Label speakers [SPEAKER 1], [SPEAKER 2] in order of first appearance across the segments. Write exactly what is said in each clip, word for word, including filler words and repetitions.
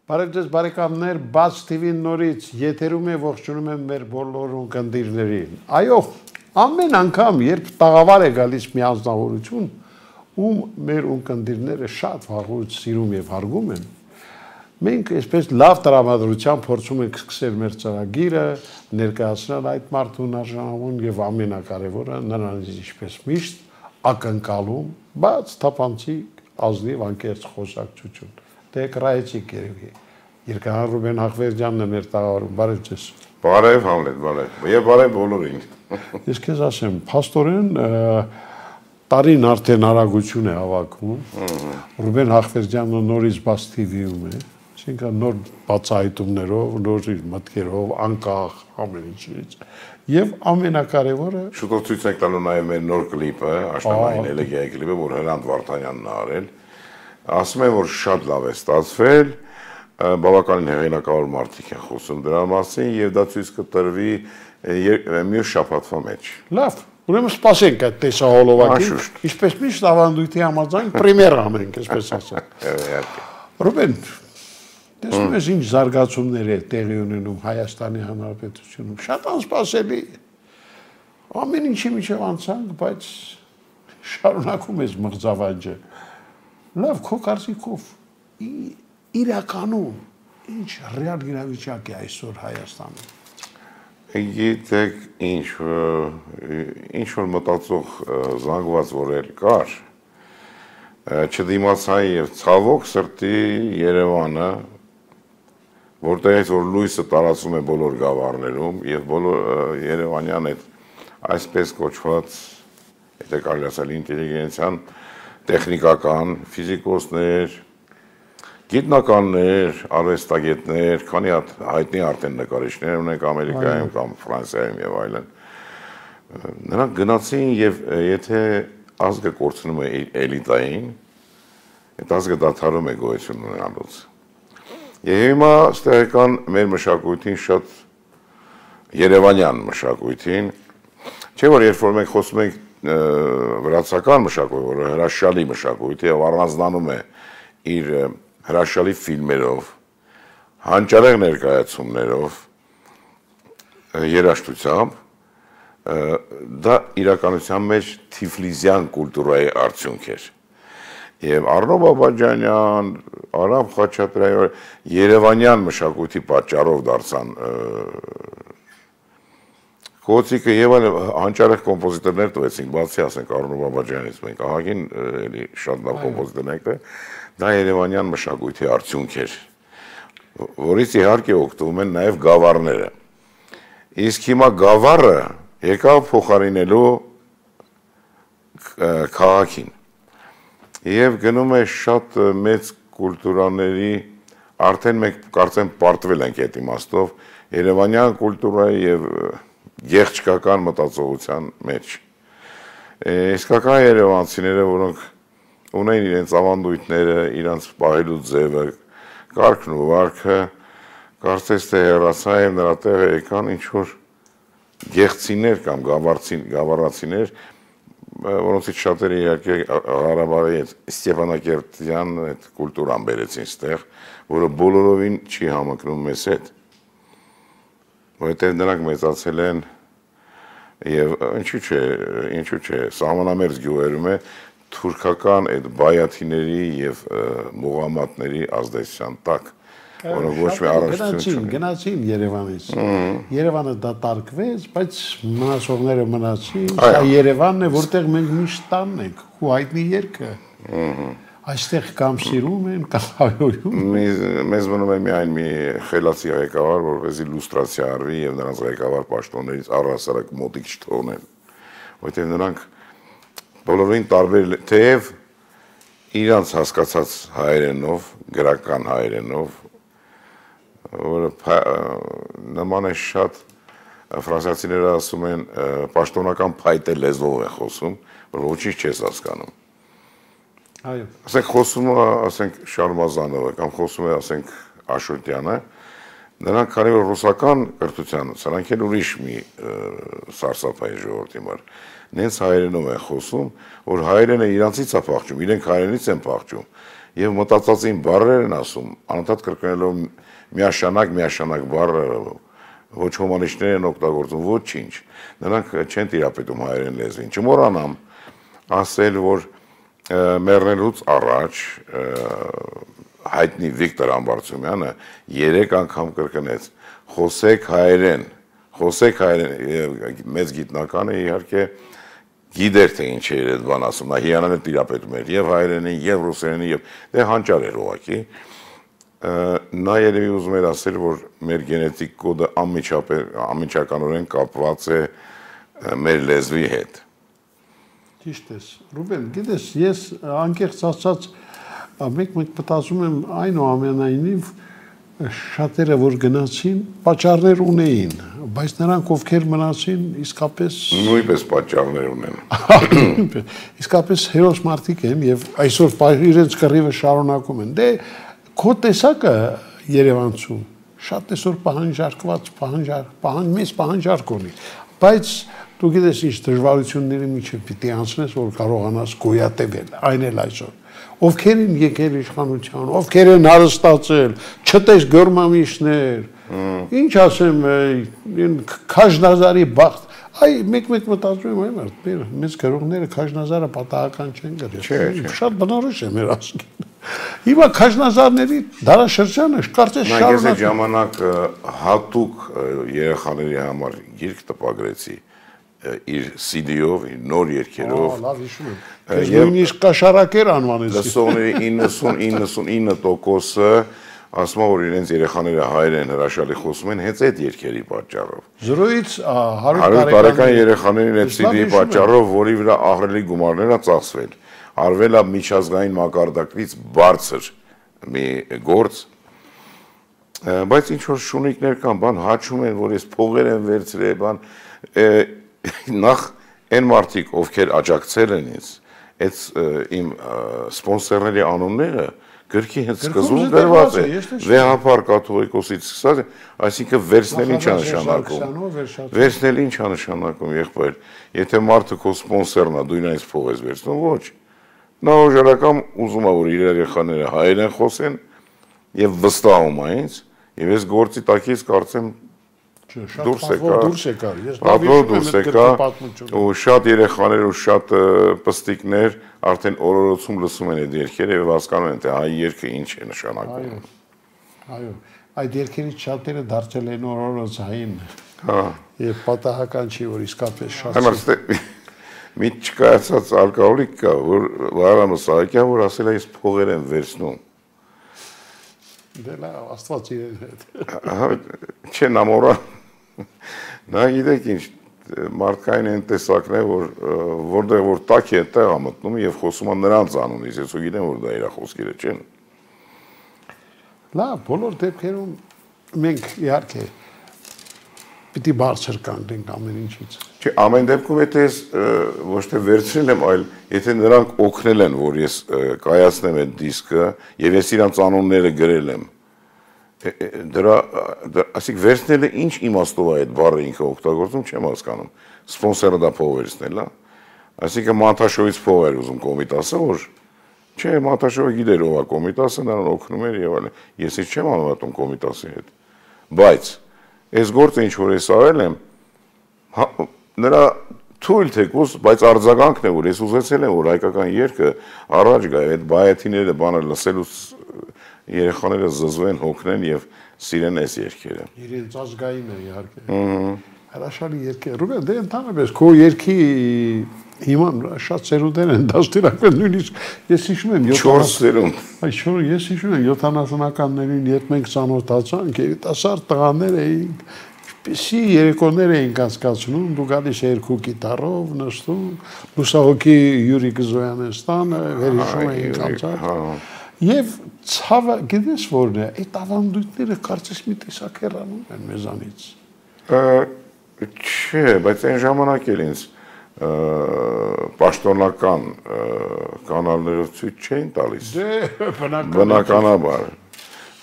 [SPEAKER 1] Բարև ձեզ բարեկամներ, բաց թիվի-ն նորից եթերում է ողջունում եմ մեր բոլոր ունկնդիրներին։ Այո, ամեն անգամ, երբ տաղավար է գալիս մի անձնավորություն, ում մեր ունկնդիրները շատ վաղուց սիրում եւ հարգում են, մենք այսպես լավ տրամադրությամբ փորձում ենք սկսել մեր ծրագիրը, ներկայացնել այդ մարդուն արժանավորուն եւ ամենակարևորը նրանից ինչպես միշտ ակնկալում, բաց թափանցիկ ազնիվ անկեղծ խոսակցություն։ Դե կրայեցիք երևի։ Երկհան Ռուբեն Հախվերդյանն է մեր տաղավարում, բարև ձեզ։
[SPEAKER 2] Բարև Համլետ, բարև։ Եվ բարև բոլորին։
[SPEAKER 1] Ես քեզ ասեմ, փաստորեն տարին արդեն արագություն է հավաքում։ Ռուբեն Հախվերդյանը նորից բաց թիվիում է, այսինքն նոր բացահայտումներով, նոր մտքերով, անկախ ամեն ինչից։ Եվ ամենակարևորը
[SPEAKER 2] շուտով ցույց ենք տալու նաև մեր նոր կլիպը, աշնանային էլեգիայի կլիպը, որ Հրանտ Վարդանյանն ա արել։ Ասում եմ, որ շատ լավ է ստացվել, բավականին հեղինակավոր մարդիկ են խոսում դրա մասին եւ դա ցույց կտրվի մյուս շաբաթվա մեջ։
[SPEAKER 1] Լավ, ուրեմն սպասենք այդ տեսահոլովակին, ինչպես միշտ ավանդույթի համաձայն պրեմիերա անենք, այսպես ասած։ Ռուբեն, տեսնում ես ինչ զարգացումներ է տեղի ունենում Հայաստանի Հանրապետությունում, շատ անսպասելի։ Ամեն ինչի միջև անցանք, բայց շարունակում ես մղձավանջը։ Լավ, քո կարծիքով իրականում ինչ ռեալ իրավիճակ է այսօր Հայաստանում։
[SPEAKER 2] Գիտեք, ինչ ինչ որ մտածող զանգված որել կար, չդիմացան եւ ցավոք սրտի Երևանը, որտեղից որ լույսը տարածում է բոլոր գավառներում եւ բոլոր Երևանյան այդ այսպես կոչված, եթե կարելի ասել ինտելիգենցիան, տեխնիկական, ֆիզիկոսներ, գիտնականներ, արվեստագետներ, քանի հատ հայտնի արդեն նկարիչներ ունենք Ամերիկայում կամ Ֆրանսիայում եւ այլն։ Նրանք գնացին եւ եթե ազգը կորցնում է էլիտային, այդ ազգը դադարում է գոյություն ունենալուց։ Եվ հիմա ստեղեկան մեր մշակույթին շատ երևանյան մշակույթին, չէ՞ որ երբ որ մենք խոսում ենք վրացական մշակույթ, որը հրաշալի մշակույթ է եւ առանձնանում է իր հրաշալի ֆիլմերով, հանճարեղ ներկայացումներով, երաժշտությամբ, դա իրականության մեջ թիֆլիզյան կուլտուրայի արդյունք էր։ Եվ Առնո Բաբաջանյան, Արամ Խաչատրյան, երևանյան մշակույթի պատճառով դարձան Կոծիկը եւ այլ հանճարեղ կոմպոզիտորներ տվեցինք, բացի ասենք Առնո Բաբաջյանից, մենք ահագին էլի շատ լավ կոմպոզիտորներ եք, դա երևանյան մշակույթի արդյունք էր, որից իհարկե օգտվում են նաև գավառները։ Իսկ հիմա գավառը եկավ փոխարինելու քաղաքին եւ գնում է շատ մեծ կուլտուրաների, արդեն մենք կարծեմ պարտվել ենք այդ իմաստով երևանյան կուլտուրայի եւ գեղչկական մտածողության մեջ։ Իսկական երևանցիները, որոնք ունեն իրենց ավանդույթները, իրենց պահելու ձևը, կարգն ու վարքը, կարծես թե հեռացա եւ նրա տեղը եկան ինչ-որ գեղցիներ կամ գավառացիներ, որոնցից շատերը իհարկե Ղարաբաղի այդ Ստեփանակերտյան այդ կուլտուրան բերեցին ստեղ, որը բոլորովին չի համընկնում մեզ հետ, որովհետեւ նրանք մեծացել են եւ ինչու՞ չէ, ինչու՞ չէ, սահմանամերձ գյուղերում է թուրքական այդ բայաթիների եւ մուղամատների ազդեցության տակ, որոնք ոչ մի առողջություն չունեն։
[SPEAKER 1] Գնացին Երևանից։ Երևանը դատարկվեց, բայց մնացողները մնացին։ Սա Երևանն է, որտեղ մենք միշտ տանն ենք, ու հայտնի երգը։ Այստեղ կամ սիրում են, կամ հայհոյում։
[SPEAKER 2] Մեզ մնում է միայն մի խելացի ղեկավար, որպեսզի լուստրացիա արվի եւ նրանց ղեկավար պաշտոններից առհասարակ մոտիկ չթողնեն, որովհետեւ նրանք բոլորին տարբեր, թեև իրանց հասկացած հայերենով, գրական հայերենով, որը նման է շատ ֆրանսիացիները ասում են պաշտոնական փայտե լեզվով են խոսում, որ ոչինչ չես հասկանում։
[SPEAKER 1] Այո։
[SPEAKER 2] Ասենք խոսում է, ասենք Շարմազանովը կամ խոսում է, ասենք Աշոտյանը, նրանք քանի որ ռուսական կրթության, սրանք էլ ուրիշ մի սարսափային ժողովրդի մար, նենց հայերենով են խոսում, որ հայերենը իրանցից է փախչում, իրենք հայերենից են փախչում, եւ մտածածին բառեր են ասում, անընդհատ կրկնելով միաշանակ միաշանակ բառերը, ոչ հոմանիշներ են օգտագործում, ոչինչ։ Նրանք չեն տիրապետում հայերեն լեզվին։ Չմոռանամ ասել, որ մեռնելուց առաջ հայտնի Վիկտոր Ամբարձումյանը երեք անգամ կրկնեց. խոսեք հայերեն, խոսեք հայերեն, մեծ գիտնականը իհարկե գիտեր թե ինչ էր այդ բան ասում, նա հիանալի տիրապետում էր եւ հայերենին, եւ ռուսերենին, եւ դե հանճար էր ուղղակի։ Նա երևի ուզում էր ասել, որ մեր գենետիկ կոդը անմիջականորեն կապված է մեր լեզվի հետ։
[SPEAKER 1] Ճիշտ ես, Ռուբեն, գիտես, ես անկեղծ ասած մեկ-մեկ մտածում եմ այնուամենայնիվ շատերը որ գնացին, պատճառներ ունեին, բայց նրանք ովքեր մնացին, իսկապես
[SPEAKER 2] նույնպես պատճառներ ունեն։
[SPEAKER 1] Իսկապես հերոս մարդիկ են եւ այսօր իրենց կռիվը շարունակում են։ Դե քո տեսակը Երևանցու շատ այսօր պահանջարկված, պահանջարկ, պահանջ մեծ պահանջարկ ունի, բայց դու գիտես ինչ դժվարությունների միջև պիտի անցնես, որ կարողանաս գոյատևել, այն էլ այսօր։ Ովքեր են եկել իշխանության, ովքեր են հարստացել, չտես գորմամիշներ, ինչ ասեմ, Քաշնազարի բախտ, այ մեկ-մեկ մտածում եմ, այ մեծ գրողները Քաշնազարը պատահական չեն գրել, շատ բնորոշ է մեր ազգին։ Հիմա Քաշնազարների դարաշրջանը կարծես
[SPEAKER 2] շարունակ։ Ես այդ ժամանակ հատուկ երեխաների համար գիրք տպագրեցի իր սի դի-ով, իր նոր երգերով։
[SPEAKER 1] Լավ հիշում եմ։ Ես նույնիսկ կաշառակեր անվանեցի։
[SPEAKER 2] Լսողների իննսուն իննսունինը տոկոսը ասում որ իրենց երեխաները հայերեն հրաշալի խոսում են հենց այդ երգերի պատճառով։
[SPEAKER 1] Զրոյից
[SPEAKER 2] հարյուր տարեկան երեխաներին այդ սի դի-ի պատճառով, որի վրա ահռելի գումարներ ա ծախսվել, արվել ա միջազգային մակարդակից բարձր մի գործ, բայց ինչ որ շունիկներ կան, բան հաչում են, որ ես փողեր եմ վերցրել, բան նախ այն մարդիկ, ովքեր աջակցել են ինձ, այդ իմ սպոնսորների անունները գրքի հենց սկզբում դրված է, վեհապար կաթողիկոսից սկսած է, այսինքն վերցնել ինչ է նշանակում, վերցնել ինչ է նշանակում, եղբայր, եթե մարդը քո սպոնսորն է, դու ինձ փող ես վերցնում, ոչ, նա օժարակամ ուզում է, որ իր երեխաները հայերեն խոսեն եւ վստահում է ինձ, եւ ես գործի տակից կարծեմ դուրս եկա, դուրս եկա, ու շատ երեխաներ ու շատ պստիկներ արդեն օրորոցում լսում են այդ երգերը եւ հասկանում են, թե հայ երգը ինչ է նշանակում։
[SPEAKER 1] Այո, այդ երգերից շատերը դարձել են օրորոցային։ Եվ պատահական չի, որ իսկապես շատ։
[SPEAKER 2] Համարստե մի չկայացած ալկոհոլիկ կա, որ Վահրամ Սահակյան, որ ասել է ես փողեր եմ վերցնում։
[SPEAKER 1] Դե լավ, Աստված իրեն հետ։
[SPEAKER 2] Չեն ամորա։ Նա գիտեք ինչ, մարդկային են տեսակն է, որ որտեղ որ տակ է այդտեղ ա մտնում եւ խոսում է նրանց անունից, ես ու գիտեմ, որ դա իր խոսքերը չեն։
[SPEAKER 1] Լավ, բոլոր դեպքերում մենք իհարկե պիտի բարձր կանգնենք ամեն ինչից։
[SPEAKER 2] Չէ, ամեն դեպքում եթե ես ոչ թե վերցրել եմ, այլ եթե նրանք օգնել են, որ ես կայացնեմ այդ դիսկը եւ ես իրանց անունները գրել եմ, դրա, ասիկ վերցնելը ինչ իմաստով է այդ բառը ինքը օգտագործում, չեմ հասկանում։ Սպոնսորը դա փող վերցնել, հա։ Այսինքն Մանթաշովից փող էր ուզում Կոմիտասը, որ չէ, Մանթաշովը գիտեր ով է Կոմիտասը, նրան օգնում էր եւ այլն։ Ես ինչ չեմ անվատում Կոմիտասի հետ։ Բայց այս գործը ինչ որ ես արել եմ, նրա թույլ թեկուզ, բայց արձագանքն է, որ ես ուզեցել եմ, որ հայկական երգը առաջ գա, այդ բայաթիները բանը լսելուց երեխաները զզվեն, հոգնեն եւ սիրեն այս երգերը։
[SPEAKER 1] Իրենց ազգային է իհարկե։ Հրաշալի երգ է։ Ռուբեն, դե ընդհանրապես քո երգի հիմա շատ սերունդներ են դաստիարակվել, նույնիսկ ես հիշում եմ
[SPEAKER 2] չորս սերունդ։
[SPEAKER 1] Այ չորս, ես հիշում եմ յոթանասունականներին, երբ մենք ծանոթացանք, երիտասարդ տղաներ էինք, ինչպիսի երեկոներ էինք անցկացնում, դու գալիս երկու գիտարով, նստում, լուսահոգի Յուրիկ Զոյանստանը, վերհիշում էինք անցած։ Եվ ցավը, գիտես որն է, այդ ավանդույթները կարծես մի տեսակ հեռանում են մեզանից։
[SPEAKER 2] Չէ, բայց այն ժամանակ էլ ինձ պաշտոնական կանալներով ցույց չէին տալիս։
[SPEAKER 1] Դե,
[SPEAKER 2] բնականաբար։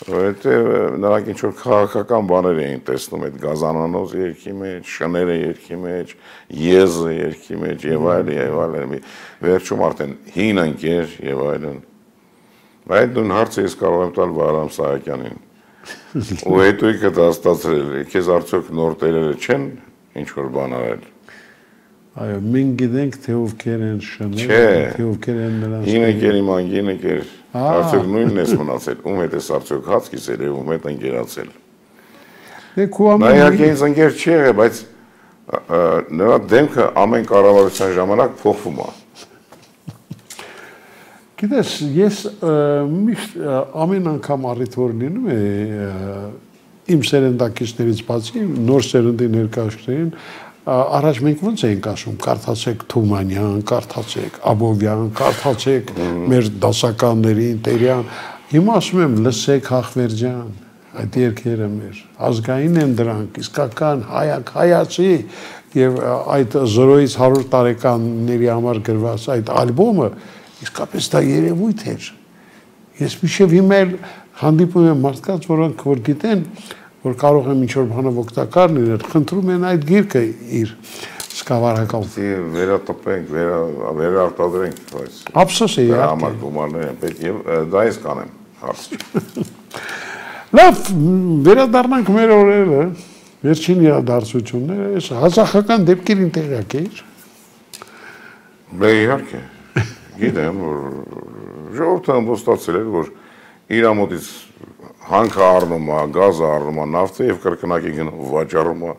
[SPEAKER 2] Որովհետև նրանք ինչ որ քաղաքական բաներ էին տեսնում այդ գազանանոց երգի մեջ, շները երգի մեջ, եզը երգի մեջ եւ այլն եւ այլն։ Վերջում արդեն հին ընկեր եւ այլն։ Այդ նույն հարցը ես կարող եմ տալ Վահրամ Սահակյանին։ Ու հետո ինքը դաստացրել, քեզ արդյոք նոր տերերը չեն ինչ որ բան արել։
[SPEAKER 1] Այո, մենք գիտենք թե ովքեր են շնել, թե ովքեր են նրանց։
[SPEAKER 2] Գինեկերի ման գինեկեր, արդյոք նույնն ես մնացել, ում հետ ես արդյոք հաց կիսել եւ ում հետ ընկերացել։ Նա իհարկե ինձ ընկեր չի եղել, բայց նրա դեմքը ամեն կառավարության ժամանակ փոխվում է։
[SPEAKER 1] Գիտես, ես միշտ ամեն անգամ առիթ որ լինում է իմ սերնդակիցներից բացի նոր սերնդի ներկայացուցիչներին առաջ մենք ոնց էինք ասում, կարդացեք Թումանյան, կարդացեք Աբովյան, կարդացեք մեր դասականներին, Տերյան, հիմա ասում եմ լսեք Հախվերջյան, այդ երկերը մեր ազգային են դրանք, իսկական հայակ հայացի եւ այդ զրոյից հարյուր տարեկանների համար գրված այդ ալբոմը իսկապես դա երևույթ էր։ Ես միշտ հիմա հանդիպում եմ մարդկանց, որոնք որ գիտեն, որ կարող եմ ինչ-որ բանով օգտակար լինել, խնդրում են այդ գիրքը իր սկավառակով։
[SPEAKER 2] Վերատպենք, վերարտադրենք, բայց
[SPEAKER 1] ափսոս է իհարկե։
[SPEAKER 2] Համար գումարներ են պետք եւ դա ես կանեմ հարց։
[SPEAKER 1] Լավ, վերադառնանք մեր օրերը, վերջին իրադարձությունները, այս հազախական դեպքերին տեղյակ էիր։
[SPEAKER 2] Բե իհարկե։ Գիտեմ, որ ժողովուրդը ամբողջացել էր, որ իր ամոթից հանքը առնում է, գազը առնում է, նավթը եւ կրկնակի գնում վաճառում է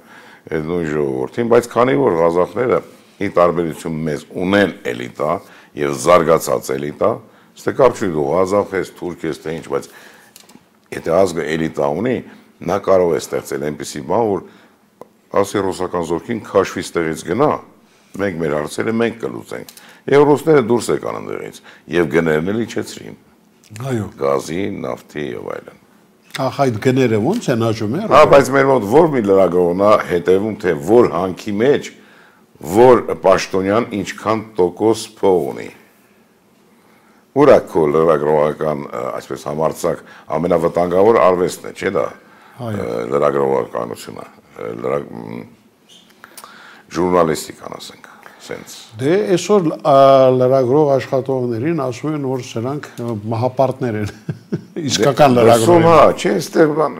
[SPEAKER 2] այդ նույն ժողովրդին, բայց քանի որ ղազախները ի տարբերություն մեզ ունեն էլիտա եւ զարգացած էլիտա, ստե կարծում դու ղազախ ես, թուրք ես, թե ինչ, բայց եթե ազգը էլիտա ունի, նա կարող է ստեղծել այնպիսի բան, որ ասի ռուսական զորքին քաշվի ստեղից գնա, մենք մեր հարցերը մենք կլուծենք։ Եվ ռուսները դուրս եկան ընդեղից եւ գներն էլ իջեցրին։
[SPEAKER 1] Այո։
[SPEAKER 2] Գազի, նավթի եւ այլն։
[SPEAKER 1] Ահա այդ գները ո՞նց են աճում է։
[SPEAKER 2] Հա, բայց մեր մոտ որ մի լրագրողն է հետևում, թե որ հանքի մեջ որ պաշտոնյան ինչքան տոկոս փող ունի։ Ուրա քո լրագրողական, այսպես համարձակ, ամենավտանգավոր արվեստն է, չէ՞ դա։ Լրագրողականությունը, ժուրնալիստիկան ասենք, սենց։
[SPEAKER 1] Դե այսօր լրագրող աշխատողներին ասում են, որ սրանք մահապարտներ են։ Իսկական լրագրող։
[SPEAKER 2] Հա, չէ, այստեղ բան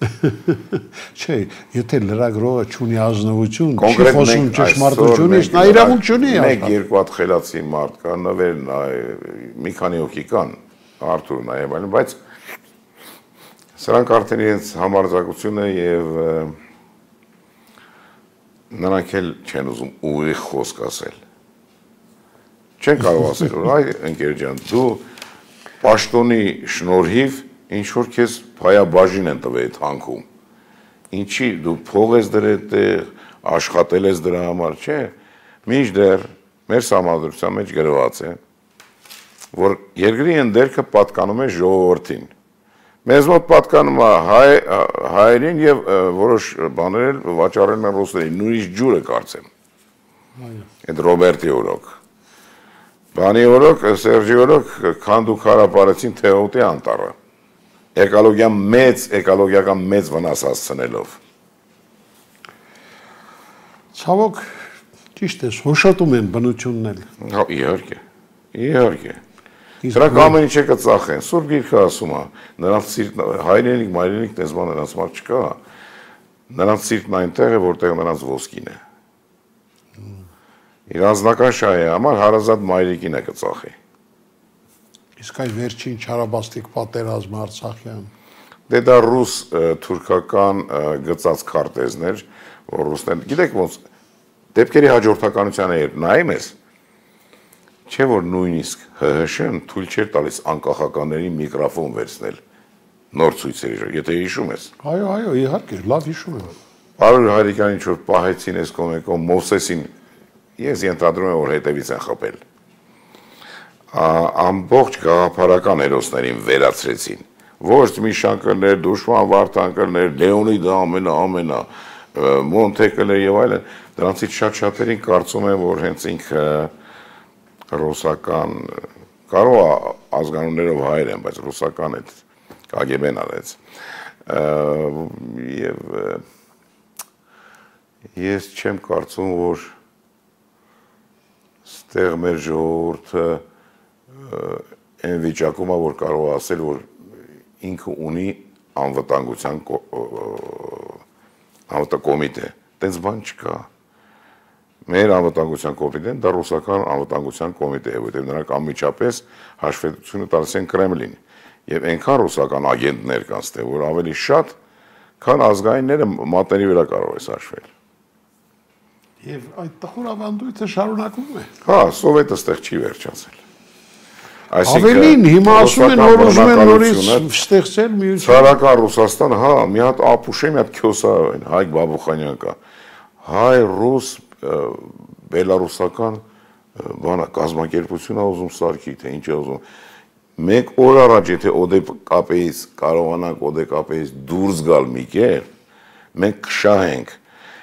[SPEAKER 1] Չէ, եթե լրագրողը չունի ազնվություն, չի խոսում ճշմարտությունից, նա իրավունք չունի։
[SPEAKER 2] Մեկ երկու հատ խելացի մարդ կա, նվերն մի քանի հոգի կան, Արթուրն եւ այլն, բայց սրանք արդեն իրենց համարձակությունը եւ նրանք էլ չեն ուզում ուղիղ խոսք ասել։ Չեն կարող ասել, որ այ ընկեր ջան, դու պաշտոնի շնորհիվ ինչ որ քեզ փայաբաժին են տվել այդ հանքում։ Ինչի դու փող ես դրել տեղ, աշխատել ես դրա համար, չէ։ Մինչդեռ մեր համադրության մեջ գրված է, որ երկրի ընդերքը պատկանում է ժողովրդին։ Մեզ մոտ պատկանում է հայ հայերին եւ որոշ բաներ վաճառել են ռուսներին, նույնիսկ ջուրը կարծեմ։ Այո։ Այդ Ռոբերտի օրոք։ Բանի օրոք, Սերժի օրոք քանդու քարապարեցին Թեոտի անտառը։ Էկոլոգիան մեծ, էկոլոգիական մեծ վնաս հասցնելով։
[SPEAKER 1] Ցավոք, ճիշտ է, հոշոտում են բնությունն էլ։
[SPEAKER 2] Հա, իհարկե։ Իհարկե։ Սրանք ամեն ինչը կծախեն։ Սուրբ Գիրքը ասում է, նրանց սիրտն հայրենիք, մայրենիք տեսման նրանց մոտ չկա։ Նրանց սիրտն այնտեղ է, որտեղ նրանց ոսկին է։ Իր անձնական շահի համար հարազատ մայրիկին է կծախի։
[SPEAKER 1] Իսկ այ վերջին չարաբաստիկ պատերազմը Արցախյան։
[SPEAKER 2] Դե դա ռուս թուրքական գծած քարտեզներ, որ ռուսներն, գիտեք ոնց դեպքերի հաջորդականությանը երբ նայում ես, չէ որ նույնիսկ ՀՀՇ-ն թույլ չէր տալիս անկախականների միկրոֆոն վերցնել նոր ցույցերի, եթե հիշում ես։
[SPEAKER 1] Այո, այո, իհարկե, լավ հիշում եմ։
[SPEAKER 2] Պարոն Հայրիկյան ինչ որ պահեցին այս կոմեկո Մովսեսին, ես ենթադրում եմ որ հետևից են խփել։ Ամբողջ գաղափարական հերոսներին վերացրեցին։ Ոչ Միշան կլներ, Դուշման Վարդան կլներ, Լեոնիդը ամենա ամենա, Մոնտեկլը եւ այլն, դրանցից շատ-շատերին կարծում եմ որ հենց ինքը ռուսական կարող է ազգանուններով հայեր են, բայց ռուսական այդ Կա Գե Բեն արեց։ Եվ ես չեմ կարծում, որ ստեղ մեր ժողովուրդը այն վիճակում է, որ կարող է ասել, որ ինքը ունի անվտանգության անվտանգ կոմիտե, տենց բան չկա։ Մեր անվտանգության կոմիտեն դա ռուսական անվտանգության կոմիտե է, որտեղ նրանք անմիջապես հաշվետվությունը տալիս են Կրեմլին։ Եվ այնքան ռուսական ագենտներ կան ստե, որ ավելի շատ, քան ազգայինները մատների վրա կարող է հաշվել։
[SPEAKER 1] Եվ այդ տխուր ավանդույթը շարունակվում է։
[SPEAKER 2] Հա, սովետը ստեղ չի վերջացել։
[SPEAKER 1] Ավելին հիմա ասում են, որ ուզում են նորից ստեղծել միություն։
[SPEAKER 2] Ցարական Ռուսաստան, հա, մի հատ ապուշե, մի հատ քյոսա, Հայկ Բաբուխանյան կա։ Հայ-ռուս բելարուսական բանա կազմակերպությունը ուզում սարքի, թե ինչ է ուզում։ Մեկ օր առաջ, եթե ՕԴԿՊ-ից կարողանանք ՕԴԿՊ-ից դուրս գալ մի կեր, մենք կշահենք։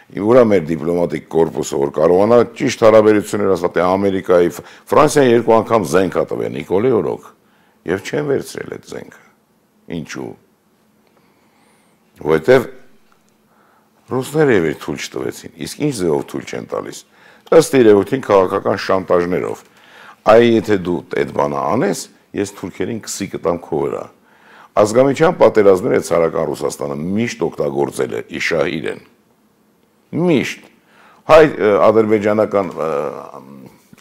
[SPEAKER 2] Ուրա մեր դիպլոմատիկ կորպուսը, որ կարողանա ճիշտ հարաբերություններ ասած Ամերիկայի, Ֆրանսիան երկու անգամ զենք ա տվել Նիկոլի օրոք, եւ չեն վերցրել այդ զենքը։ Ինչու՞։ Որտեւ ռուսները եւ թույլ չտվեցին, իսկ ինչ ձեւով թույլ չեն տալիս։ Ըստ իրողին քաղաքական շանտաժներով։ Այ եթե դու այդ բանը անես, ես թուրքերին քսի կտամ քո վրա։ Ազգամիջյան պատերազմները ցարական Ռուսաստանը միշտ օգտագործել է իշահիր են։ Միշտ հայ ադրբեջանական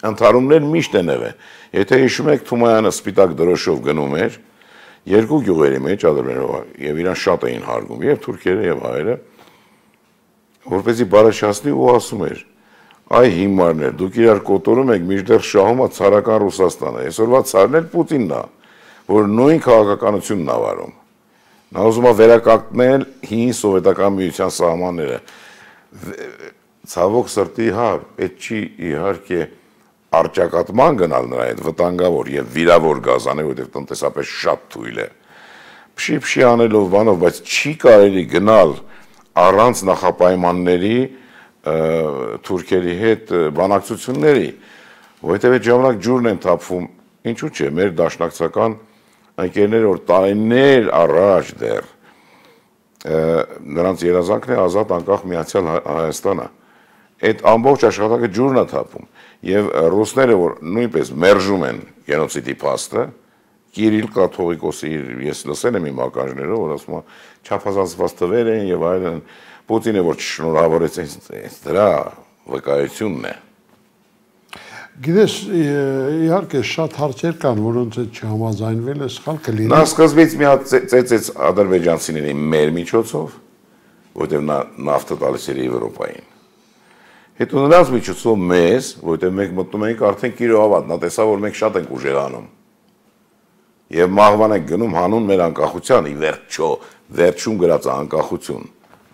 [SPEAKER 2] ընդհարումներ միշտ են եղել։ Եթե հիշում եք Թումոյանը սպիտակ դրոշով գնում էր երկու գյուղերի մեջ ադրբեջանով եւ իրան շատ էին հարգում եւ թուրքերը եւ հայերը, որպեսզի բարաշացնի ու ասում էր. «Այ հիմարներ, դուք իրար կոտորում եք, մինչդեռ շահում է ցարական Ռուսաստանը»։ Այսօրվա ցարն էլ Պուտինն է, որ նույն քաղաքականությունն է վարում։ Նա ուզում է վերականգնել հին սովետական միության սահմանները։ Ցավոք սրտի, հա, այդ չի իհարկե արճակատման գնալ նրա այդ վտանգավոր եւ վիրավոր գազանը, որտեղ տնտեսապես շատ թույլ է։ Փշի-փշի անելով բանով, բայց չի կարելի գնալ առանց նախապայմանների թուրքերի հետ բանակցությունների, որովհետեւ այդ ժամանակ ջուրն են թափվում, ինչու՞ չէ, մեր դաշնակցական ընկերները, որ տարիներ առաջ դեռ նրանց երազանքն է ազատ անկախ միացյալ Հայաստանը։ Այդ ամբողջ աշխատանքը ջուրն է թափում եւ ռուսները, որ նույնպես մերժում են գենոցիդի փաստը, Կիրիլ կաթողիկոսի ես լսել եմ իմ ականջներով, որ ասում է չափազանցված թվեր են եւ այլն, Պուտինը որ չշնորհավորեց դրա վկայությունն է։
[SPEAKER 1] Գիտես, իհարկե շատ հարցեր կան, որոնց հետ չհամաձայնվել է, սխալ կլինի։
[SPEAKER 2] Նա սկզբից մի հատ ծեծեց ադրբեջանցիների մեր միջոցով, որտեղ նա նավթը տալիս էր Եվրոպային։ Հետո նրանց միջոցով մեզ, որտեղ մենք մտնում ենք արդեն կիրովատ, նա տեսավ, որ մենք շատ ենք ուժեղանում։ Եվ մահվան ենք գնում հանուն մեր անկախության, ի վերջո, վերջում գրած անկախություն։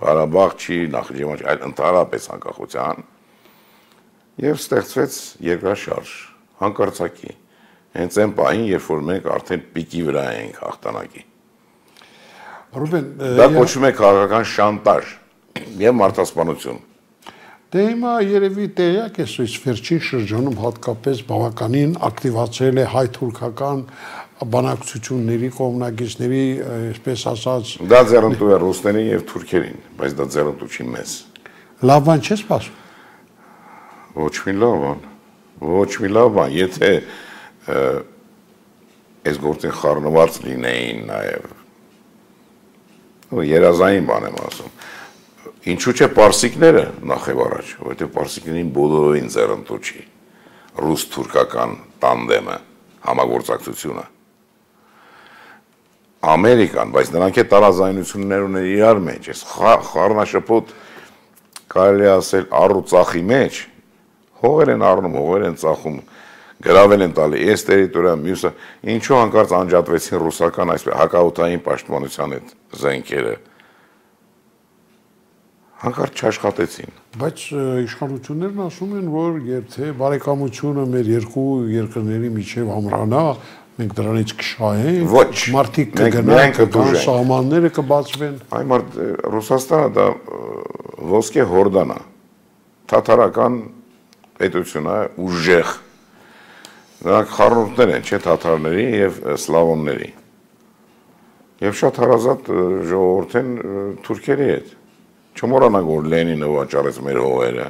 [SPEAKER 2] Ղարաբաղ չի, Նախիջևան չի, այլ ընդհանրապես անկախության։ Եվ ստեղծվեց երկրաշարժ, հանկարծակի, հենց այն պահին, երբ որ մենք արդեն պիկի վրա ենք հաղթանակի։
[SPEAKER 1] Ռուբեն,
[SPEAKER 2] դա կոչվում է քաղաքական շանտաժ եւ մարդասպանություն։
[SPEAKER 1] Դե հիմա երևի տեղյակ ես, այս վերջին շրջանում հատկապես բավականին ակտիվացրել է հայ-թուրքական բանակցությունների կողմնակիցների, այսպես ասած,
[SPEAKER 2] դա ձեռնտու է ռուսներին եւ թուրքերին, բայց դա ձեռնտու չի մեզ։
[SPEAKER 1] Լավ բան չես սպասում։
[SPEAKER 2] Ոչ մի լավ բան, ոչ մի լավ բան, եթե այս գործին խառնված լինեին նաև, երազային բան եմ ասում, ինչու՞ չէ պարսիկները նախ եւ առաջ, որովհետեւ պարսիկներին բոլորովին ձեռնտու չի ռուս-թուրքական տանդեմը, համագործակցությունը։ Ամերիկան, բայց նրանք է տարաձայնություններ ուներ իրար մեջ, այս խառնաշփոթ կարելի ասել առուծախի մեջ հողեր են առնում, հողեր են ծախում, գրավել են տալի այս տերիտորիա, մյուսը, ինչու հանկարծ անջատվեցին ռուսական այսպես հակաօդային պաշտպանության այդ զենքերը։ Հանկարծ չաշխատեցին։
[SPEAKER 1] Բայց իշխանություններն ասում են, որ եթե բարեկամությունը մեր երկու երկրների միջև ամրանա, մենք դրանից կշահենք, մարդիկ կգնան, կգան, սահմանները կբացվեն։
[SPEAKER 2] Այ մարդ Ռուսաստանը դա ոսկե հորդան է, թաթարական պետություն է, ուժեղ։ Նրանք խառնուրդներ են, չէ, թաթարների եւ սլավոնների։ Եվ շատ հարազատ ժողովուրդ են թուրքերի հետ։ Չմոռանանք, որ Լենինը վաճառեց մեր հողերը։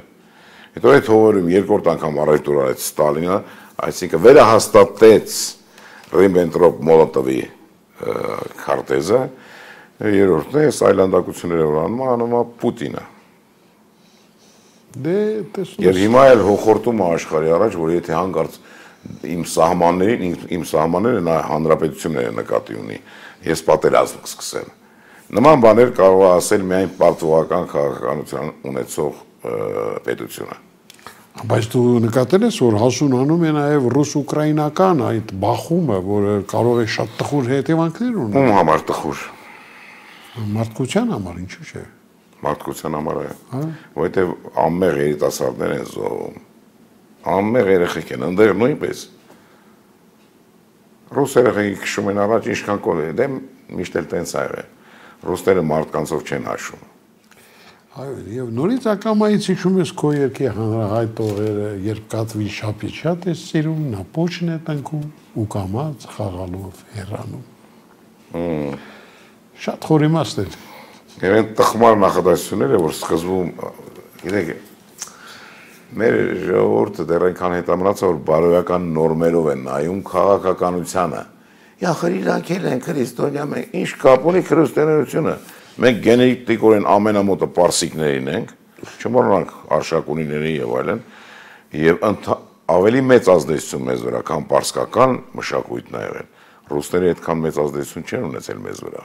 [SPEAKER 2] Հետո այդ հողերում երկրորդ անգամ առևտուր արեց Ստալինը, այսինքն վերահաստատեց Ռիբենտրոպ-Մոլոտովի քարտեզը, երրորդն է այլանդակությունները որ անում, անում է Պուտինը։
[SPEAKER 1] Դե տեսնում
[SPEAKER 2] Եվ հիմա էլ հոխորտում է աշխարհի առաջ, որ եթե հանկարծ իմ սահմաններին, իմ սահմանները նա հանրապետությունները նկատի ունի, ես պատերազմ կսկսեմ։ Նման բաներ կարող է ասել միայն պարտվողական քաղաքականություն ունեցող պետությունը։
[SPEAKER 1] Բայց դու նկատել ես, որ հասունանում է նաև ռուս-ուկրաինական այդ բախումը, որը կարող է շատ տխուր հետևանքներ ունենալ։
[SPEAKER 2] Ում համար տխուր։
[SPEAKER 1] Մարդկության համար, ինչու՞ չէ։
[SPEAKER 2] Մարդկության համար է, որովհետև անմեղ երիտասարդներ են զոհվում, անմեղ երեխեք են, ընդեղ նույնպես։ Ռուս երեխեքի քշում են առաջ, ինչքան կոլ է, դե միշտ էլ տենց ա եղել, ռուսները մարդկանցով չեն հաշվում։
[SPEAKER 1] Այո, եւ նորից ակամայից հիշում ես քո երկի հանրահայտ օրերը, երբ կատվի շապի շատ ես սիրում, նա փոչն է տնկում ու կամած խաղալով հեռանում։ Շատ խորիմաստ էր։
[SPEAKER 2] Եվ այն տխմար նախադասությունները, որ սկզբում, գիտեք, մեր ժողովուրդը դեռ այնքան հետամնաց, որ բարոյական նորմերով են նայում քաղաքականությանը։ Ախր իրանք էլ են քրիստոնյա, մենք ինչ կապ ունի քրիստոնեությունը։ Մենք գենետիկորեն ամենամոտը պարսիկներին ենք, չմոռանանք արշակունիների եւ այլն, եւ ավելի մեծ ազդեցություն մեզ վրա, քան պարսկական մշակույթն ա եղել։ Ռուսները այդքան մեծ ազդեցություն չեն ունեցել մեզ վրա։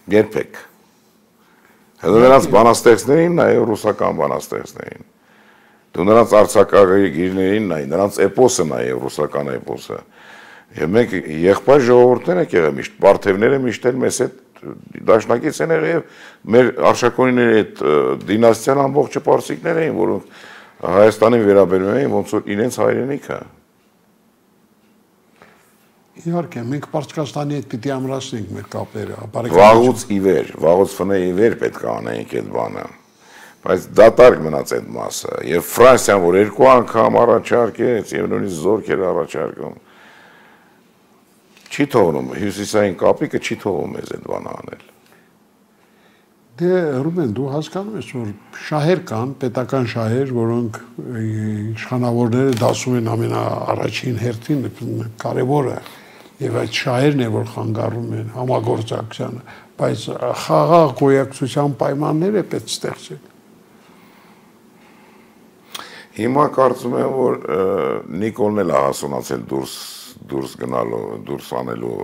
[SPEAKER 2] Երբեք։ Հետո նրանց բանաստեղծներին նայ ռուսական բանաստեղծներին։ Դու նրանց արձակագիրներին նայ, նրանց էպոսը նայ ռուսական էպոսը։ Եվ մենք եղբայր ժողովուրդներ ենք եղել միշտ, պարթևները միշտ էլ մեզ հետ դաշնակից են եղել եւ մեր արշակունիների այդ դինաստիան ամբողջը պարսիկներ էին, որոնք Հայաստանին վերաբերում էին ոնց որ իրենց հայրենիքը։
[SPEAKER 1] Իհարկե, մենք Պարսկաստանի հետ պիտի ամրացնենք մեր կապերը,
[SPEAKER 2] վաղուց ի վեր, վաղուց ֆնե ի վեր պետք է անենք այդ բանը։ Բայց դատարկ մնաց այդ մասը, եւ Ֆրանսիան, որ երկու անգամ առաջարկեց եւ նույնիսկ զորքեր առաջարկում, չի թողնում, հյուսիսային կապիկը չի թողում մեզ այդ բանը անել։
[SPEAKER 1] Դե Ռուբեն, դու հասկանում ես, որ շահեր կան, պետական շահեր, որոնք իշխանավորները դասում են ամենաառաջին հերթին, կարևորը, եւ այդ շահերն է, որ խանգարում են համագործակցությանը, բայց խաղաղ գոյակցության պայմաններ է պետք ստեղծել։
[SPEAKER 2] Հիմա կարծում եմ, որ Նիկոլն էլ է հասունացել դուրս դուրս գնալու, դուրս անելու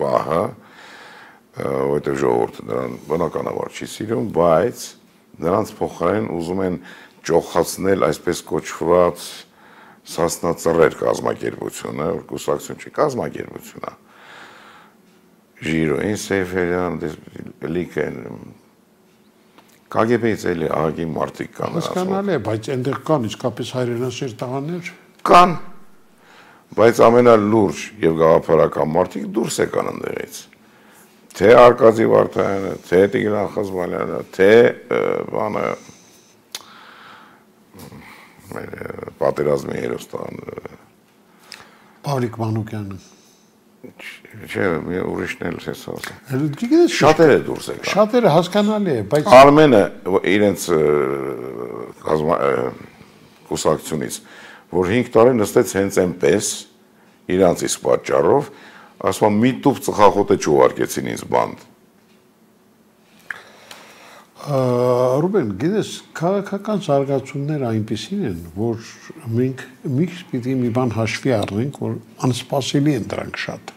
[SPEAKER 2] պահը, որտեղ ժողովուրդը նրան բնականաբար չի սիրում, բայց նրանց փոխարեն ուզում են ճոխացնել այսպես կոչված սասնածռեր կազմակերպությունը, որ կուսակցություն չի, կազմակերպություն է։ Ժիրոին Սեյֆերյան, լիք են, կագեբեից էլի ահագին մարդիկ կան։
[SPEAKER 1] Հասկանալի է, բայց այնտեղ կան իսկապես հայրենասեր տղաներ։
[SPEAKER 2] Կան, բայց ամենալուրջ եւ գաղափարական մարդիկ դուրս եկան ընդեղից։ Թե Արկադի Վարդայանը, թե Տիգրան Խզմալյանը, թե բանը պատերազմի հերոստան
[SPEAKER 1] Պավլիկ Մանուկյանը։
[SPEAKER 2] Չէ, մի ուրիշն էլ ես ասում։
[SPEAKER 1] Գիտես,
[SPEAKER 2] շատերը դուրս եկան։
[SPEAKER 1] Շատերը հասկանալի է, բայց
[SPEAKER 2] Արմենը իրենց կուսակցությունից, որ հինգ տարի նստեց հենց այնպես իրանց իսկ պատճառով, ասում եմ մի տուփ ծխախոտ է չուղարկեցին ինձ բանդ։
[SPEAKER 1] Ռուբեն, գիտես, քաղաքական զարգացումները այնպիսին են, որ մենք միշտ պիտի մի բան հաշվի առնենք, որ անսպասելի են դրանք շատ։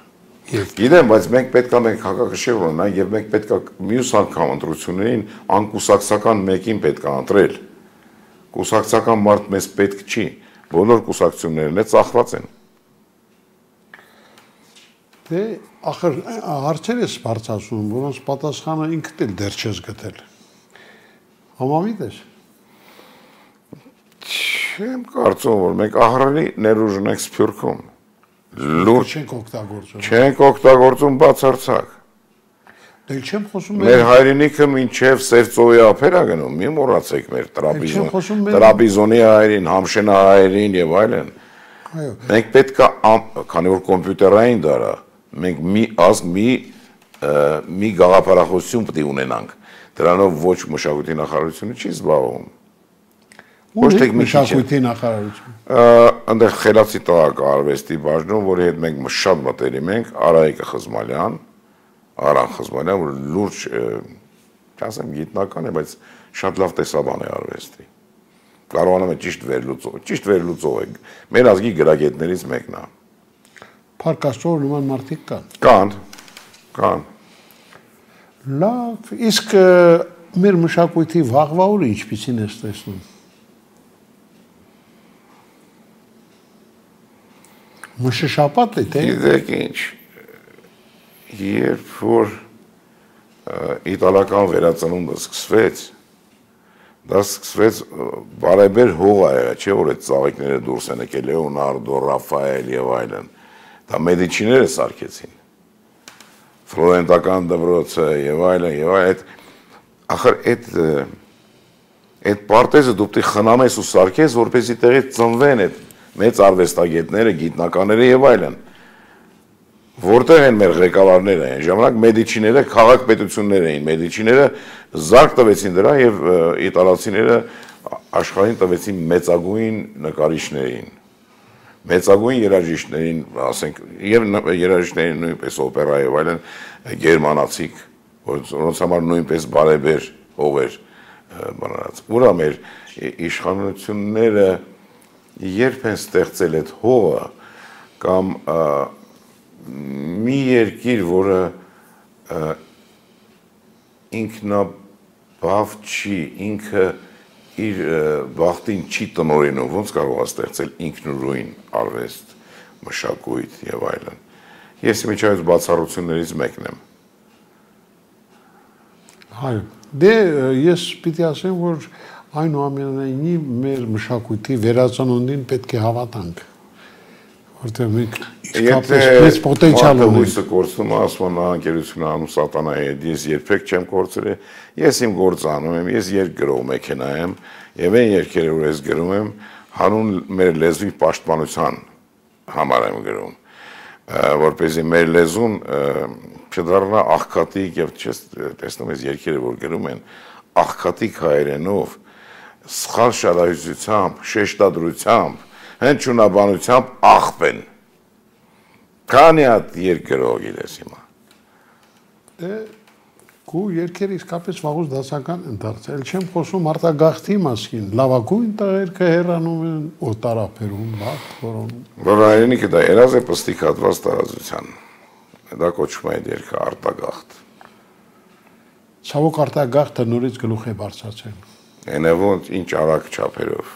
[SPEAKER 2] Գիտեմ, բայց մենք պետք է մենք հակակշիռ ունենանք եւ մենք պետք է մյուս անգամ ընտրություններին անկուսակցական մեկին պետք է ընտրել։ Կուսակցական մարդ մեզ պետք չի, բոլոր կուսակցություններն է ծախված են։
[SPEAKER 1] Դե, ախր հարցեր ես բարձրացնում, որոնց պատասխանը ինքդ էլ դեռ չես գտել։ Համամիտ ես։
[SPEAKER 2] Չեմ կարծում, որ մենք ահռելի ներուժ ունենք Սփյուռքում։ Լուրջ
[SPEAKER 1] չենք օգտագործում։
[SPEAKER 2] Չենք օգտագործում բացարձակ։
[SPEAKER 1] Դե չեմ խոսում
[SPEAKER 2] մեր հայրենիքը մինչև Սևծովի ափեր է գնում, մի մոռացեք մեր տրապիզոն, տրապիզոնի հայերին, Համշենա հայերին եւ այլն։
[SPEAKER 1] Այո։
[SPEAKER 2] Մենք պետք է, քանի որ կոմպյուտերային դար է, մենք մի ազգ, մի մի գաղափարախոսություն պետք է ունենանք։ Դրանով ոչ մշակույթի նախարարությունը չի զբաղվում։
[SPEAKER 1] Ոչ թե մշակույթի նախարարություն։
[SPEAKER 2] Այնտեղ խելացի տաղակարվեստի բաժնում, որի հետ մենք շատ մտերիմ ենք, Արայիկը Խզմալյան, Արան Խզմալյան, որ լուրջ, չասեմ գիտնական է, բայց շատ լավ տեսաբան է արվեստի։ Կարողանում է ճիշտ վերլուծող, ճիշտ վերլուծող է։ Մեր ազգի գրագետներից մեկն է։
[SPEAKER 1] Փառք Աստծո, նման մարդիկ կան։
[SPEAKER 2] Կան, կան։
[SPEAKER 1] Լավ, իսկ մեր մշակույթի վաղվա օրը ինչպիսին ես տեսնում։ Մշշապատ է, թե։
[SPEAKER 2] Գիտեք ինչ, երբ որ իտալական վերածնունդը սկսվեց, դա սկսվեց բարեբեր հող ա եղել, չէ՞ որ այդ ծաղիկները դուրս են եկել, Լեոնարդո, Ռաֆայել եւ այլն։ Դա մեդիչիները սարքեցին։ Ֆլորենտական դպրոցը եւ այլն եւ այդ ախր այդ այդ պարտեզը դու պետք է խնամես ու սարքես, որպեսզի տեղից ծնվեն այդ մեծ արվեստագետները, գիտնականները եւ այլն։ Որտեղ են մեր ղեկավարները, այն ժամանակ մեդիչիները քաղաք պետություններ էին, մեդիչիները զարկ տվեցին դրա եւ իտալացիները աշխարհին տվեցին մեծագույն նկարիչներին, մեծագույն երաժիշտներին, ասենք, եւ երաժիշտներին նույնպես օպերա եւ այլն գերմանացիք, որոնց համար նույնպես բարեբեր հողեր բանալած։ Ուրա մեր իշխանությունները երբ են ստեղծել այդ հողը կամ մի երկիր, որը ինքնաբավ չի, ինքը իր բախտին չի տնօրինում, ոնց կարող է ստեղծել ինքնուրույն արվեստ, մշակույթ եւ այլն։ Ես իմիջայից բացառություններից մեկն եմ։
[SPEAKER 1] Այո, դե ես պիտի ասեմ, որ այնուամենայնիվ մեր մշակույթի վերածնունդին պետք է հավատանք, որտեղ մենք իսկապես մեծ պոտենցիալ ունենք։
[SPEAKER 2] Հույսը կորցնում է, ասում են անկերությունը անում սատանայի հետ, ես երբեք չեմ կորցրել, ես իմ գործը անում եմ, ես երգ գրող մեքենա եմ, եւ այն երգերը, որ ես գրում եմ, հանուն մեր լեզվի պաշտպանության համար եմ գրում, որպեսզի մեր լեզուն չդառնա աղքատիկ եւ չես տեսնում ես երգերը, որ գրում են աղքատիկ հայերենով, սխալ շարահյուսությամբ, շեշտադրությամբ, հնչյունաբանությամբ աղբ են։ Քանի հատ երգ գրող գիտես հիմա։
[SPEAKER 1] Դե քու երգերը իսկապես վաղուց դասական են դարձել, չեմ խոսում արտագաղթի մասին, լավագույն տղերքը հեռանում են օտարապերում, բաց որոնում։
[SPEAKER 2] Որ հայրենիքը դա երազ է պստիկ հատված տարածության։ Դա կոչվում է այդ երգը արտագաղթ։
[SPEAKER 1] Ցավոք արտագաղթը նորից գլուխ է բարձրացել։
[SPEAKER 2] Այնևոց ինչ արագ չափերով։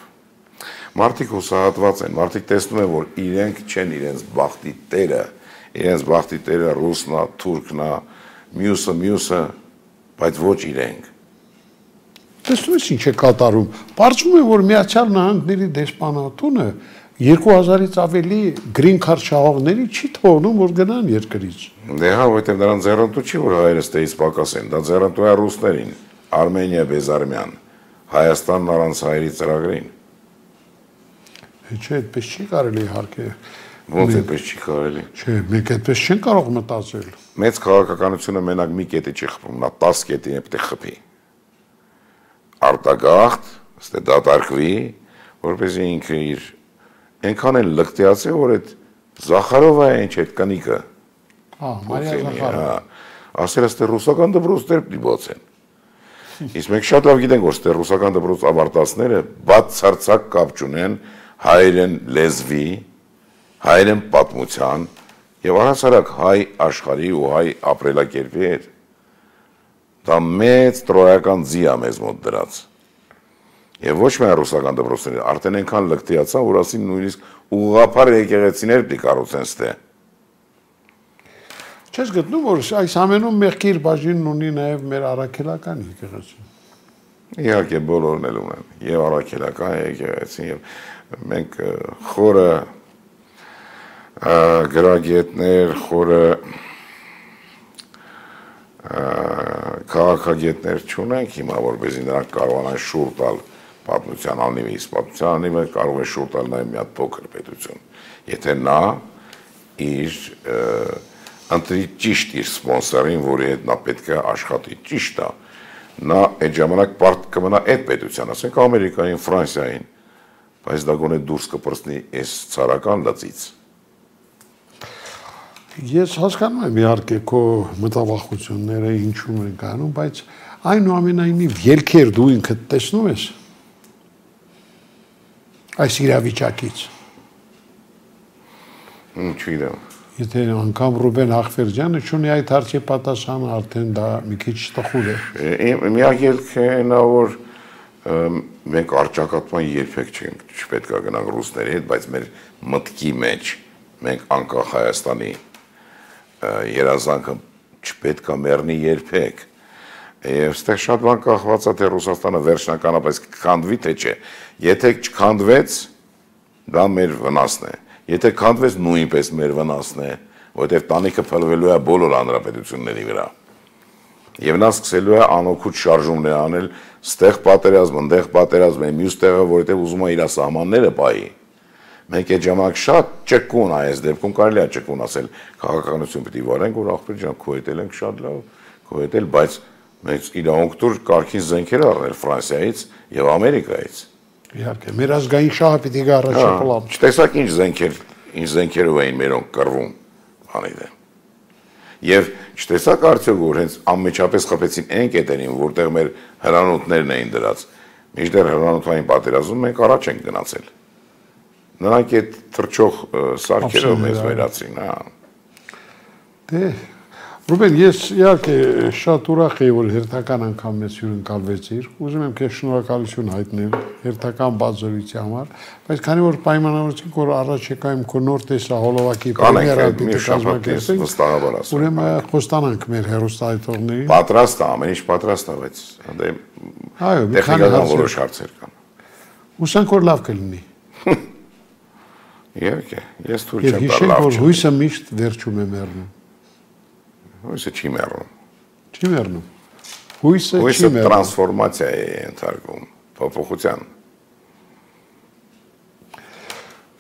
[SPEAKER 2] Մարդիկ հուսահատված են, մարդիկ տեսնում են, որ իրենք չեն իրենց բախտի տերը, իրենց բախտի տերը ռուսնա, թուրքնա, մյուսը, մյուսը, բայց ոչ իրենք։
[SPEAKER 1] Տեսնում ես ինչ է կատարում։ Պարզվում է, որ Միացյալ Նահանգների դեսպանատունը երկու հազարից ավելի գրին քարտ շահողների չի թողնում, որ գնան երկրից։
[SPEAKER 2] Դե հա, որովհետև նրան ձեռնտու չի, որ հայերը ստեից պակաս են, դա ձեռնտու է ռուսներին, Արմենիա Բեզարմյան, Հայաստանն առանց հայերի ծրագրին։
[SPEAKER 1] Չէ, այդպես չի կարելի իհարկե։
[SPEAKER 2] Ոնց այդպես չի կարելի։
[SPEAKER 1] Չէ, մենք այդպես չեն կարող մտածել։
[SPEAKER 2] Մեծ քաղաքականությունը մենակ մի կետի չի խփում, նա տասը կետին է պետք է խփի։ Արտագաղթ, ստե դատարկվի, որպեսզի ինքը իր այնքան են լկտիացել, որ այդ Զախարովը է ինչ այդ կնիկը։
[SPEAKER 1] Հա, Մարիա Զախարովը։
[SPEAKER 2] Ասել է ստե ռուսական դպրոցներ պիտի բացեն։ Իսկ մենք շատ լավ գիտենք, որ ստե ռուսական դպրոց ավարտածները բացարձակ կապ չունեն հայերեն լեզվի, հայերեն պատմության եւ առհասարակ հայ աշխարհի ու հայ ապրելակերպի հետ։ Դա մեծ տրոյական ձի է մեզ մոտ դրած։ Եվ ոչ միայն ռուսական դպրոցները, արդեն այնքան լկտիացան, որ ասին նույնիսկ ուղղափառ եկեղեցիներ պիտի կառուցեն ստե։
[SPEAKER 1] Չես գտնում, որ այս ամենում մեղքի իր բաժինն ունի նաև մեր առաքելական եկեղեցին։
[SPEAKER 2] Իհարկե բոլորն էլ ունեն, եւ առաքելական եկեղեցին, եւ մենք խորը գրագետներ, խորը քաղաքագետներ չունենք հիմա, որպեսզի նրանք կարողանան շուռ տալ պատմության անիվի, իսկ պատմության անիվը կարող է շուռ տալ նաև մի հատ փոքր պետություն, եթե նա իր ընտրի ճիշտ իր սպոնսորին, որի հետ նա պետք է աշխատի, ճիշտ է, նա այդ ժամանակ պարտ կմնա այդ պետության, ասենք Ամերիկային, Ֆրանսիային, բայց դա գոնե դուրս կպրծնի այս ցարական լծից։
[SPEAKER 1] Ես հասկանում եմ իհարկե քո մտավախությունները ինչու են կանում, բայց այնուամենայնիվ ելքեր դու ինքդ տեսնում ես այս իրավիճակից։
[SPEAKER 2] Չգիտեմ։
[SPEAKER 1] Եթե անգամ Ռուբեն Ախվերջյանը չունի այդ հարցի պատասխանը, արդեն դա մի քիչ տխուր է։
[SPEAKER 2] Միակ ելքը նա որ մենք արճակատման երբեք չպետք է գնանք ռուսների հետ, բայց մեր մտքի մեջ մենք անկախ Հայաստանի երազանքը չպետք է մեռնի երբեք։ Եվ ստեղ շատ բան կախված է թե Ռուսաստանը վերջնականապես կքանդվի թե չէ։ Եթե չքանդվեց, դա մեր վնասն է։ Եթե քանդվեց, նույնպես մեր վնասն է, որովհետև տանիքը փլվելու է բոլոր հանրապետությունների վրա։ Եվ նա սկսելու է անօգուտ շարժումներ անել, ստեղ պատերազմ, ընդեղ պատերազմ, մյուս տեղը, որովհետև ուզում է իր սահմանները պահի։ Մենք այդ ժամանակ շատ ճկուն այս դեպքում կարելի է ճկուն ասել, քաղաքականություն պիտի վարենք, որ ախպեր ջան, քո հետ ենք շատ լավ, քո հետ էլ, բայց մենք իրավունք տուր կարգին զենքեր առնել Ֆրանսիայից եւ Ամերիկայից։
[SPEAKER 1] Իհարկե, մեր ազգային շահը պիտի գա առաջապլավ։
[SPEAKER 2] Չտեսակ ինչ զենքեր, ինչ զենքերով էին մերոնք կռվում, բանի դե։ Եվ չտեսակ արդյոք որ հենց անմիջապես խփեցին այն կետերին, որտեղ մեր հրանոթներն էին դրած։ Մինչդեռ հրանոթային պատերազմում մենք առաջ ենք գնացել։ Նրանք այդ թրջող սարքերով մեզ վերացրին, հա։
[SPEAKER 1] Դե, Ռուբեն, ես իհարկե շատ ուրախ եի, որ հերթական անգամ մեզ հյուրընկալվեցիր, ուզում եմ քեզ շնորհակալություն հայտնել հերթական բացառույթի համար, բայց քանի որ պայմանավորեցինք, որ առաջիկայում քո նոր տեսահոլովակի պրեմիերան պիտի կազմակերպենք, ուրեմն խոստանանք մեր հեռուստահայտողներին։
[SPEAKER 2] Պատրաստ է, ամեն ինչ պատրաստ է, բայց
[SPEAKER 1] այո, մի քանի
[SPEAKER 2] որոշ հարցեր կան։
[SPEAKER 1] Հուսանք որ լավ կլինի։
[SPEAKER 2] Իհարկե, ես թույլ
[SPEAKER 1] Եվ
[SPEAKER 2] չեմ տա
[SPEAKER 1] հիշենք,
[SPEAKER 2] լավ
[SPEAKER 1] որ
[SPEAKER 2] չլինի։
[SPEAKER 1] հույսը միշտ վերջում է մեռնում։
[SPEAKER 2] Հույսը չի մեռնում։
[SPEAKER 1] Չի մեռնում։ Հույսը չի
[SPEAKER 2] Հույսը
[SPEAKER 1] մեռնում։
[SPEAKER 2] տրանսֆորմացիա է ենթարկում, փոփոխության։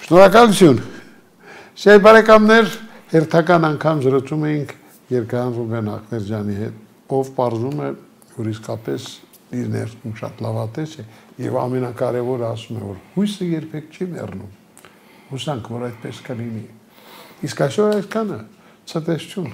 [SPEAKER 1] Շնորհակալություն։ Սեր բարեկամներ, հերթական անգամ զրուցում էինք Երգան Ռուբեն Ախվերջյանի հետ, ով պարզում է, որ իսկապես իր ներսում շատ լավատես է եւ ամենակարևորը ասում է, որ հույսը երբեք չի մեռնում։ Հուսանք, որ այդպես կլինի։ Իսկ այսօր այսքանը, ցտեսություն։